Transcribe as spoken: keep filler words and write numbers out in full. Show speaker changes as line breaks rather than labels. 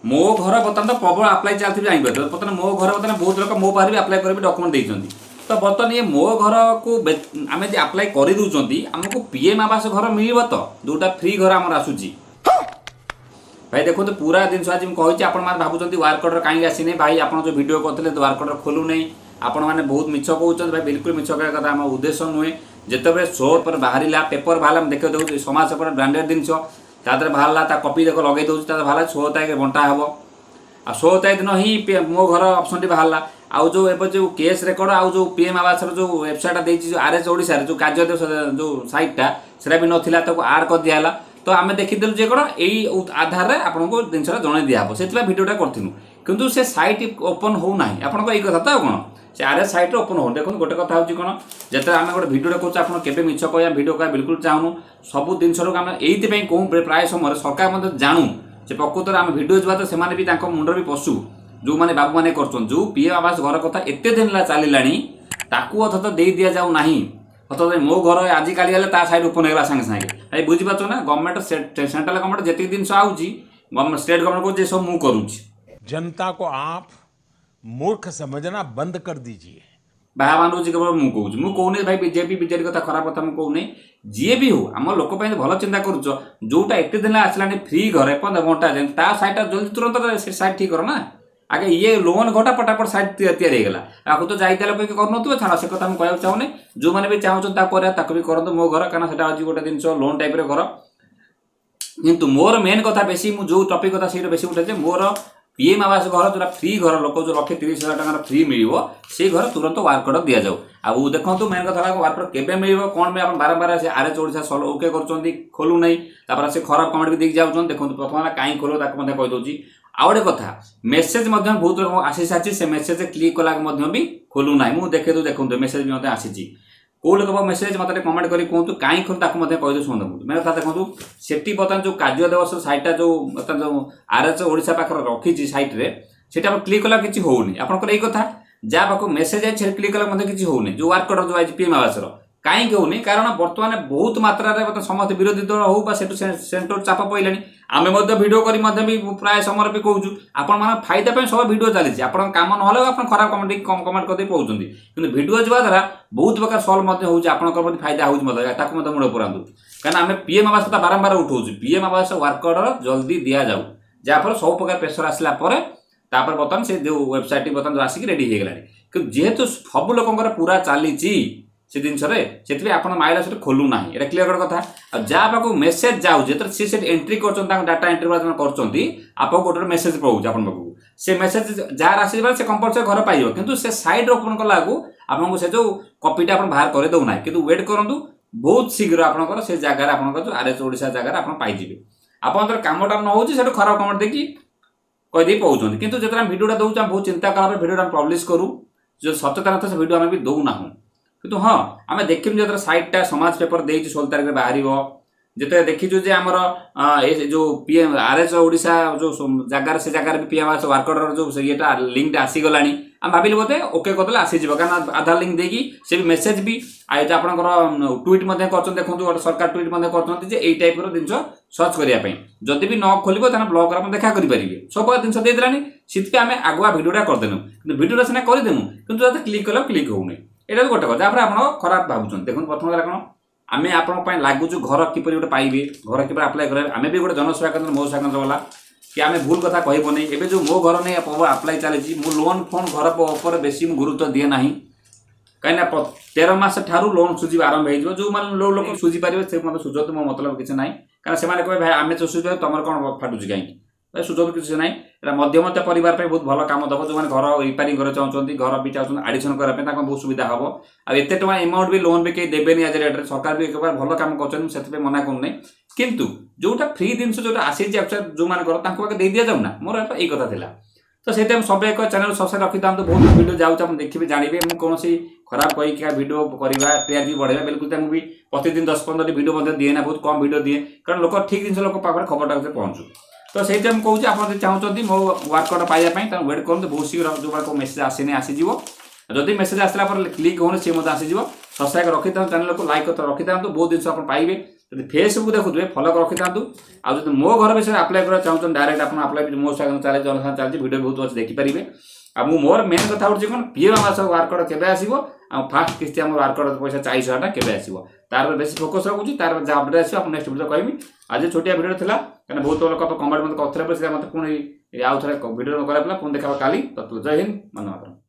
ମୋ ଘର ବର୍ତ୍ତମାନ ତ ପ୍ରବଳ ଆପ୍ଲାଏ ଚାଲିଥିବ ଜାଣିପାରୁଥିବ ବର୍ତ୍ତମାନ ମୋ ଘର ବର୍ତ୍ତମାନ ବହୁତ ଲୋକ ମୋ ପାଖରେ ବି ଆପ୍ଲାଏ କରିକି ଡକୁମେଣ୍ଟ ଦେଇଛନ୍ତି ତ ବର୍ତ୍ତମାନ ଇଏ ମୋ ଘରକୁ ବେ- ଆମେ ଯଦି ଆପ୍ଲାଏ କରିଦେଉଛନ୍ତି ଆମକୁ ପି ଏମ୍ ଆବାସ ଘର ମିଳିବ ତ ଯୋଉଟା ଫ୍ରି ଘର ଆମର ଆସୁଛି ଭାଇ ଦେଖନ୍ତୁ ପୁରା ଜିନିଷ ଆଜି ମୁଁ କହିଛି ଆପଣମାନେ ଭାବୁଛନ୍ତି ୱାର୍କ ଅର୍ଡର କାହିଁକି ଆସିନି ଭାଇ ଆପଣ ଯେଉଁ ଭିଡ଼ିଓ କରିଥିଲେ ୱାର୍କ ଅର୍ଡର ଖୋଲୁନାହିଁ ଆପଣମାନେ ବହୁତ ମିଛ କହୁଛନ୍ତି ଭାଇ ବିଲକୁଲ ମିଛ କହିବା କଥା ଆମ ଉଦ୍ଦେଶ୍ୟ ନୁହେଁ ଯେତେବେଳେ ଶୋ ପରେ ବାହାରିଲା ପେପର ବାହାରିଲା ମୁଁ ଦେଖେଇ ଦେଉଛି ସମାଜ ପେପର ବ୍ରାଣ୍ଡେଡ୍ ଜିନିଷ ତା ଦେହରେ ବାହାରିଲା ତା କପି ଦେଖ ଲଗେଇ ଦେଉଛି ତା ଦେହରେ ବାହାରିଲା ଷୋହଳ ତାରିଖରେ ବଣ୍ଟା ହେବ ଆଉ ଷୋହଳ ତାରିଖ ଦିନ ହିଁ ପି- ମୋ ଘର ଅପସନ୍ଟି ବାହାରିଲା ଆଉ ଯେଉଁ ଏବେ ଯେଉଁ କେସ୍ ରେକର୍ଡ ଆଉ ଯେଉଁ ପି ଏମ୍ ଆବାସର ଯେଉଁ ୱେବସାଇଟ୍ଟା ଦେଇଛି ଯେଉଁ ଆର୍ ଏଚ୍ ଓଡ଼ିଶାରେ ଯେଉଁ କାର୍ଯ୍ୟ ଯେଉଁ ସାଇଟ୍ଟା ସେଟା ବି ନଥିଲା ତାକୁ ଆଡ଼୍ କରିଦିଆହେଲା ତ ଆମେ ଦେଖିଦେଲୁ ଯେ କ'ଣ ଏଇ ଆଧାରରେ ଆପଣଙ୍କୁ ଜିନିଷଟା ଜଣେଇ ଦିଆହେବ ସେଥିପାଇଁ ଭିଡ଼ିଓଟା କରିଥିଲୁ କିନ୍ତୁ ସେ ସାଇଟ୍ ଓପନ୍ ହେଉନାହିଁ ଆପଣଙ୍କ ଏଇ କଥା ତ ଆଉ କ'ଣ ସେ ଆର୍ ଏଚ୍ ସାଇଟ୍ରେ ଓପନ୍ ହେଉନି ଦେଖନ୍ତୁ ଗୋଟେ କଥା ହେଉଛି କ'ଣ ଯେତେବେଳେ ଆମେ ଗୋଟେ ଭିଡ଼ିଓଟା କରୁଛୁ ଆପଣ କେବେ ମିଛ କହିବା ଭିଡ଼ିଓ କହିବା ବିଲକୁଲ ଚାହୁଁନୁ ସବୁ ଜିନିଷଟାକୁ ଆମେ ଏଇଥିପାଇଁ କହୁ ପ୍ରାୟ ସମୟରେ ସରକାର ମଧ୍ୟ ଜାଣୁ ଯେ ପ୍ରକୃତରେ ଆମେ ଭିଡ଼ିଓ ଯିବା ତ ସେମାନେ ବି ତାଙ୍କ ମୁଣ୍ଡରେ ବି ପଶୁ ଯେଉଁମାନେ ବାବୁମାନେ କରୁଛନ୍ତି ଯେଉଁ ପି ଏମ୍ ଆବାସ ଘର କଥା ଏତେ ଦିନ ହେଲା ଚାଲିଲାଣି ତାକୁ ଅଥଚ ଦେଇ ଦିଆଯାଉ ନାହିଁ ଅଥଚ ମୋ ଘର ଆଜିକାଲି ହେଲେ ତା ସାଇଡ୍ ଓପନ୍ ହେଇଗଲା ସାଙ୍ଗେ ସାଙ୍ଗେ ଭାଇ ବୁଝିପାରୁଛ ନା ଗଭର୍ଣ୍ଣମେଣ୍ଟ ସେଣ୍ଟ୍ରାଲ ଗଭର୍ଣ୍ଣମେଣ୍ଟ ଯେତିକି ଜିନିଷ ଆଉଛି ଗଭର୍ଣ୍ଣମେଣ୍ଟ ଷ୍ଟେଟ୍ ଗଭର୍ଣ୍ଣମେଣ୍ଟ କହୁଛି ଏସବୁ ମୁଁ କରୁଛି
जनता को आप मूर्ख समझना बंद कर दीजिए
ବାହା ବାନ୍ଧୁଛି କେବଳ ମୁଁ କହୁଛି ମୁଁ କହୁନି ଭାଇ ବିଜେପି ବିଜେଡି କଥା ଖରାପ କଥା ମୁଁ କହୁନି ଯିଏ ବି ହଉ ଆମ ଲୋକ ପାଇଁ ଭଲ ଚିନ୍ତା କରୁଛ ଯୋଉଟା ଏତେ ଦିନ ଆସିଲାଣି ଫ୍ରି ଘରେ ଏପର୍ଯ୍ୟନ୍ତ ବଣ୍ଟା ଯାଏନି ତା ସାଇଡ୍ଟା ଜଲ୍ଦି ତୁରନ୍ତ ସେ ସାଇଡ୍ ଠିକ୍ କର ନା ଆଗେ ଇଏ ଲୋନ୍ ଘରଟା ପଟାପଟ ସାଇଡ୍ ତିଆରି ହେଇଗଲା ଆକୁ ତ ଯାଇଥିଲେ ଲୋକ କରୁନଥିବେ ଛାଡ଼ ସେ କଥା ମୁଁ କହିବାକୁ ଚାହୁଁନି ଯୋଉମାନେ ବି ଚାହୁଁଛନ୍ତି ତାକୁ କରିବା ତାକୁ ବି କରନ୍ତୁ ମୋ ଘର କାରଣ ସେଟା ହେଉଛି ଗୋଟେ ଜିନିଷ ଲୋନ୍ ଟାଇପ୍ର ଘର କିନ୍ତୁ ମୋର ମେନ୍ କଥା ବେଶୀ ମୁଁ ଯୋଉ ଟପିକ୍ କଥା ସେଇଟା ବେଶୀ ଉଠେ ଯେ ମୋର ପିଏମ୍ ଆବାସ ଘର ଯୋଉଟା ଫ୍ରି ଘର ଲୋକ ଯୋଉ ଲକ୍ଷେ ତିରିଶ ହଜାର ଟଙ୍କାର ଫ୍ରି ମିଳିବ ସେଇ ଘର ତୁରନ୍ତ ୱାର୍କ ଅର୍ଡର ଦିଆଯାଉ ଆଉ ଦେଖନ୍ତୁ ମେନ୍ କଥା ହେଲା ୱାର୍କ ଅର୍ଡର କେବେ ମିଳିବ କ'ଣ ପାଇଁ ଆପଣ ବାରମ୍ବାର ସେ ଆର୍ ଏଚ୍ ଓଡ଼ିଶା ସଲ ଓକେ କରୁଛନ୍ତି ଖୋଲୁନାହିଁ ତାପରେ ସେ ଖରାପ କମେଣ୍ଟ ବି ଦେଇକି ଯାଉଛନ୍ତି ଦେଖନ୍ତୁ ପ୍ରଥମ ହେଲା କାହିଁ ଖୋଲିବ ତାକୁ ମଧ୍ୟ କହିଦେଉଛି ଆଉ ଗୋଟେ କଥା ମେସେଜ ମଧ୍ୟ ବହୁତ ରକମ ଆସି ସାରିଛି ସେ ମେସେଜ କ୍ଲିକ୍ କଲା ମଧ୍ୟ ବି ଖୋଲୁନାହିଁ ମୁଁ ଦେଖେଇ ଦେଉଛି ଦେଖନ୍ତୁ ମେସେଜ ବି ମଧ୍ୟ ଆସିଛି କୋଉ ଲୋକ ମେସେଜ ମତେ ଟିକେ କମେଣ୍ଟ କରି କୁହନ୍ତୁ କାହିଁ ଖୋଲୁ ତାକୁ ମଧ୍ୟ କହିଦେଉ ଶୁଣନ୍ତୁ ମେନ୍ କଥା ଦେଖନ୍ତୁ ସେଠି ବର୍ତ୍ତମାନ ଯୋଉ କାର୍ଯ୍ୟ ଦିବସ ସାଇଟ୍ଟା ଯୋଉ ବର୍ତ୍ତମାନ ଯୋଉ ଆର୍ ଏଚ୍ ଓଡ଼ିଶା ପାଖରେ ରଖିଛି ସାଇଟ୍ରେ ସେଟା ଆପଣ କ୍ଲିକ୍ କଲା କିଛି ହଉନି ଆପଣଙ୍କର ଏଇ କଥା ଯାହା ପାଖକୁ ମେସେଜ ଆଇଛି ସେଠି କ୍ଲିକ୍ କଲା ମଧ୍ୟ କିଛି ହଉନି ଯୋଉ ୱାର୍କ ଅର୍ଡର ଯୋଉ ଆଇଛି ପିଏମ୍ ଆବାସର କାହିଁକି ହଉନି କାରଣ ବର୍ତ୍ତମାନ ବହୁତ ମାତ୍ରାରେ ବର୍ତ୍ତମାନ ସମସ୍ତେ ବିରୋଧୀ ଦଳ ହଉ ବା ସେଠୁ ସେଣ୍ଟର ଚାପ ପଡ଼ିଲାଣି ଆମେ ମଧ୍ୟ ଭିଡ଼ିଓ କରି ମଧ୍ୟ ବି ପ୍ରାୟ ସମୟରେ ବି କହୁଛୁ ଆପଣମାନଙ୍କ ଫାଇଦା ପାଇଁ ସବୁ ଭିଡ଼ିଓ ଚାଲିଛି ଆପଣଙ୍କ କାମ ନହେଲେ ଆପଣ ଖରାପ କମେଣ୍ଟ କମେଣ୍ଟ କରିଦେଇ କହୁଛନ୍ତି କିନ୍ତୁ ଭିଡ଼ିଓ ଯିବା ଦ୍ୱାରା ବହୁତ ପ୍ରକାର ସଲ୍ଭ ମଧ୍ୟ ହେଉଛି ଆପଣଙ୍କର ପ୍ରତି ଫାଇଦା ହେଉଛି ମଧ୍ୟ ତାକୁ ମଧ୍ୟ ମୁଣ୍ଡ ପୁରାନ୍ତୁ କାରଣ ଆମେ ପିଏମ୍ ଆବାସ କଥା ବାରମ୍ବାର ଉଠଉଛୁ ପିଏମ୍ ଆବାସ ୱାର୍କ ଅର୍ଡର ଜଲ୍ଦି ଦିଆଯାଉ ଯାହାଫଳରେ ସବୁ ପ୍ରକାର ପ୍ରେସର ଆସିଲା ପରେ ତାପରେ ବର୍ତ୍ତମାନ ସେ ଯେଉଁ ୱେବସାଇଟ୍ଟି ବର୍ତ୍ତମାନ ଯୋଉ ଆସିକି ରେଡି ହେଇଗଲାଣି କିନ୍ତୁ ଯେହେତୁ ସବୁ ଲୋକଙ୍କର ପୁରା ଚାଲିଛି ସେ ଜିନିଷରେ ସେଥିପାଇଁ ଆପଣ ମାଇଲା ସେଠି ଖୋଲୁନାହିଁ ଏଇଟା କ୍ଲିୟର କଥା ଆଉ ଯାହା ପାଖକୁ ମେସେଜ ଯାଉଛି ଯେତେବେଳେ ସିଏ ସେଠି ଏଣ୍ଟ୍ରି କରୁଛନ୍ତି ତାଙ୍କ ଡାଟା ଏଣ୍ଟ୍ରି ଯେତେବେଳେ କରୁଛନ୍ତି ଆପଣଙ୍କୁ ଗୋଟେ ଗୋଟେ ମେସେଜ ପଳାଉଛି ଆପଣଙ୍କ ପାଖକୁ ସେ ମେସେଜ ଯାହାର ଆସିଯିବ ସେ କମ୍ପଲସରି ଘର ପାଇବ କିନ୍ତୁ ସେ ସାଇଡ୍ ଓପନ୍ କଲା ବେଳକୁ ଆପଣଙ୍କୁ ସେ ଯୋଉ କପିଟା ଆପଣ ବାହାର କରିଦେଉନାହିଁ କିନ୍ତୁ ୱେଟ୍ କରନ୍ତୁ ବହୁତ ଶୀଘ୍ର ଆପଣଙ୍କର ସେ ଜାଗାରେ ଆପଣଙ୍କର ଯୋଉ ଆର୍ ଏଚ୍ ଓଡ଼ିଶା ଜାଗାରେ ଆପଣ ପାଇଯିବେ ଆପଣଙ୍କର କାମଟା ନ ହେଉଛି ସେଠୁ ଖରାପ କମେଣ୍ଟ ଦେଇକି କହିଦେଇ କହୁଛନ୍ତି କିନ୍ତୁ ଯେତେବେଳେ ଆମେ ଭିଡ଼ିଓଟା ଦେଉଛୁ ଆମେ ବହୁତ ଚିନ୍ତା କଲା ପରେ ଭିଡ଼ିଓଟା ଆମେ ପବ୍ଲିଶ କରୁ ଯେଉଁ ସତ୍ୟତା ନଥାଏ ସେ ଭିଡ଼ିଓ ଆମେ ବି ଦେଉନାହୁଁ କିନ୍ତୁ ହଁ ଆମେ ଦେଖିବୁ ଯେତେବେଳେ ସାଇଟ୍ଟା ସମାଜ ପେପର ଦେଇଛି ଷୋହଳ ତାରିଖରେ ବାହାରିବ ଯେତେବେଳେ ଦେଖିଛୁ ଯେ ଆମର ଏ ଯୋଉ ପିଏମ୍ ଆର୍ ଏଚ୍ ଓଡ଼ିଶା ଯୋଉ ଜାଗାରେ ସେ ଜାଗାରେ ବି ପିଏମ୍ ଆବାସ ୱାର୍କ ଅର୍ଡର ଯୋଉ ସେ ଇଏଟା ଲିଙ୍କଟା ଆସିଗଲାଣି ଆମେ ଭାବିଲୁ ବୋଧେ ଓକେ କରିଦେଲେ ଆସିଯିବ କାରଣ ଆଧାର ଲିଙ୍କ ଦେଇକି ସେ ବି ମେସେଜ ବି ଆଉ ଯେ ଆପଣଙ୍କର ଟ୍ୱିଟ୍ ମଧ୍ୟ କରୁଛନ୍ତି ଦେଖନ୍ତୁ ଗୋଟେ ସରକାର ଟ୍ୱିଟ୍ ମଧ୍ୟ କରୁଛନ୍ତି ଯେ ଏଇ ଟାଇପ୍ର ଜିନିଷ ସର୍ଚ୍ଚ କରିବା ପାଇଁ ଯଦି ବି ନ ଖୋଲିବ ତାହେଲେ ବ୍ଲକରେ ଆପଣ ଦେଖା କରିପାରିବେ ସବୁ ପ୍ରକାର ଜିନିଷ ଦେଇଦେଲାଣି ସେଥିପାଇଁ ଆମେ ଆଗୁଆ ଭିଡ଼ିଓଟା କରିଦେନୁ କିନ୍ତୁ ଭିଡ଼ିଓଟା ସିନା କରିଦେନୁ କିନ୍ତୁ ଯଦି କ୍ଲିକ୍ କଲେ କ୍ଲିକ୍ ହେଉନି ଏଇଟା ବି ଗୋଟେ କଥା ଯାହାଫଳରେ ଆପଣ ଖରାପ ଭାବୁଛନ୍ତି ଦେଖନ୍ତୁ ପ୍ରଥମ କଥା କ'ଣ ଆମେ ଆପଣଙ୍କ ପାଇଁ ଲାଗୁଛୁ ଘର କିପରି ଗୋଟେ ପାଇବେ ଘର କିପରି ଆପ୍ଲାଏ କରିବେ ଆମେ ବି ଗୋଟେ ଜନସେବା କେନ୍ଦ୍ର ମୋ ସେବା କେନ୍ଦ୍ର ବାଲା କି ଆମେ ଭୁଲ କଥା କହିବନି ଏବେ ଯେଉଁ ମୋ ଘର ନେଇ ଆପ୍ଲାଏ ଚାଲିଛି ମୁଁ ଲୋନ୍ ଫୋନ୍ ଘର ଉପରେ ବେଶୀ ମୁଁ ଗୁରୁତ୍ୱ ଦିଏ ନାହିଁ କାହିଁକିନା ତେର ମାସ ଠାରୁ ଲୋନ୍ ସୁଝିବା ଆରମ୍ଭ ହେଇଯିବ ଯେଉଁମାନେ ଲୋକ ସୁଝି ପାରିବେ ସେ ମଧ୍ୟ ସୁଝନ୍ତୁ ମୋ ମତଲବ କିଛି ନାହିଁ କାରଣ ସେମାନେ କହିବେ ଭାଇ ଆମେ ତ ସୁଝିପାରିବୁ ତମର କ'ଣ ଫାଟୁଛି କାହିଁକି ଭାଇ ସୁଝନ୍ତୁ କିଛି ନାହିଁ ଏଇଟା ମଧ୍ୟମତ୍ତ ପରିବାର ପାଇଁ ବହୁତ ଭଲ କାମ ଦେବ ଯେଉଁମାନେ ଘର ରିପେୟାରିଂ କରିବାକୁ ଚାହୁଁଛନ୍ତି ଘର ବି ଚାହୁଁଛନ୍ତି ଆଡ଼ିସନ୍ କରିବା ପାଇଁ ତାଙ୍କ ବହୁତ ସୁବିଧା ହେବ ଆଉ ଏତେ ଟଙ୍କା ଏମାଉଣ୍ଟ ବି ଲୋନ୍ ବି କେହି ଦେବେନି ଆଜି ରେଟ୍ରେ ସରକାର ବି ଏକବାର ଭଲ କାମ କରୁଛନ୍ତି ମୁଁ ସେଥିପାଇଁ ମନା କରୁନାହିଁ କିନ୍ତୁ ଯୋଉଟା ଫ୍ରି ଜିନିଷ ଯୋଉଟା ଆସିଛି ଆକ୍ଚୁଆଲି ଯେଉଁମାନଙ୍କର ତାଙ୍କୁ ଆଗେ ଦେଇ ଦିଆଯାଉ ନା ମୋର ଏଇ କଥା ଥିଲା ତ ସେଇଥିପାଇଁ ସବୁ ଏକ ଚ୍ୟାନେଲ ସବସ୍କ୍ରାଇବ୍ ରଖିଥାନ୍ତୁ ବହୁତ ଭିଡ଼ିଓ ଯାଉଛି ଆପଣ ଦେଖିବେ ଜାଣିବେ ମୁଁ କୌଣସି ଖରାପ କହିକି ଭିଡ଼ିଓ କରିବା ଟିଆରପି ବଢ଼େଇବା ବିଲକୁଲ ମୁଁ ବି ପ୍ରତିଦିନ ଦଶ ପନ୍ଦରଟି ଭିଡ଼ିଓ ମଧ୍ୟ ଦିଏ ନା ବହୁତ କମ୍ ଭିଡ଼ିଓ ଦିଏ କାରଣ ଲୋକ ଠିକ୍ ଜିନିଷ ଲୋକ ପାଖରେ ଖବରଟା ପହଞ୍ଚୁ ତ ସେଇଥିପାଇଁ ମୁଁ କହୁଛି ଆପଣ ଯଦି ଚାହୁଁଛନ୍ତି ମୋ ୱାର୍କ ଅର୍ଡର ପାଇବା ପାଇଁ ତାହେଲେ ୱେଟ୍ କରନ୍ତୁ ବହୁତ ଶୀଘ୍ର ଯେଉଁମାନଙ୍କ ମେସେଜ ଆସିନି ଆସିଯିବ ଯଦି ମେସେଜ ଆସିଲା ପରେ କ୍ଲିକ୍ ହେଉନି ସିଏ ମଧ୍ୟ ଆସିଯିବ ସବସ୍କ୍ରାଇବ୍ ରଖିଥାନ୍ତୁ ଚ୍ୟାନେଲକୁ ଲାଇକ୍ ରଖିଥାନ୍ତୁ ବହୁତ ଜିନିଷ ଆପଣ ପାଇବେ ଯଦି ଫେସବୁକ୍ ଦେଖୁଥିବେ ଫଲୋ ରଖିଥାନ୍ତୁ ଆଉ ଯଦି ମୋ ଘର ବିଷୟରେ ଆପ୍ଲାଏ କରିବାକୁ ଚାହୁଁଛନ୍ତି ଡାଇରେକ୍ଟ ଆପଣ ଆପ୍ଲାଏ ମୋ ସାଙ୍ଗରେ ଚାଲିଛି ଜନସାଧାରଣ ଚାଲିଛି ଭିଡ଼ିଓ ବହୁତ ଅଛି ଦେଖିପାରିବେ ଆଉ ମୁଁ ମୋର ମେନ୍ କଥା ହେଉଛି କ'ଣ ପିଏମ୍ ଆବାସ ୱାର୍କ ଅର୍ଡର କେବେ ଆସିବ ଆଉ ଫାଷ୍ଟ କିସ୍ତି ଆମର ୱାର୍କ ଅର୍ଡର ପଇସା ଚାଳିଶ ହଜାର ଟଙ୍କା କେବେ ଆସିବ ତାର ବେଶୀ ଫୋକସ୍ ରଖୁଛି ତାର ଯାହା ଅପଡେଟ୍ ଆସିବ ଆପଣ ନେକ୍ସଟ ଭିଡ଼ିଓ କହିବି ଆଜି ଛୋଟିଆ ଭିଡ଼ିଓ ଥିଲା କାରଣ ବହୁତ ଲୋକ କମେଣ୍ଟ ମୋତେ କରୁଥିଲେ ସେଟା ମୋତେ ପୁଣି ଆଉ ଥରେ ଭିଡ଼ିଓ କରିବାକୁ ପଡ଼ିଲା ପୁଣି ଦେଖାବା କାଲି ତ ଜୟ ହିନ୍ଦ ବନ୍ଦେ ମାତରମ୍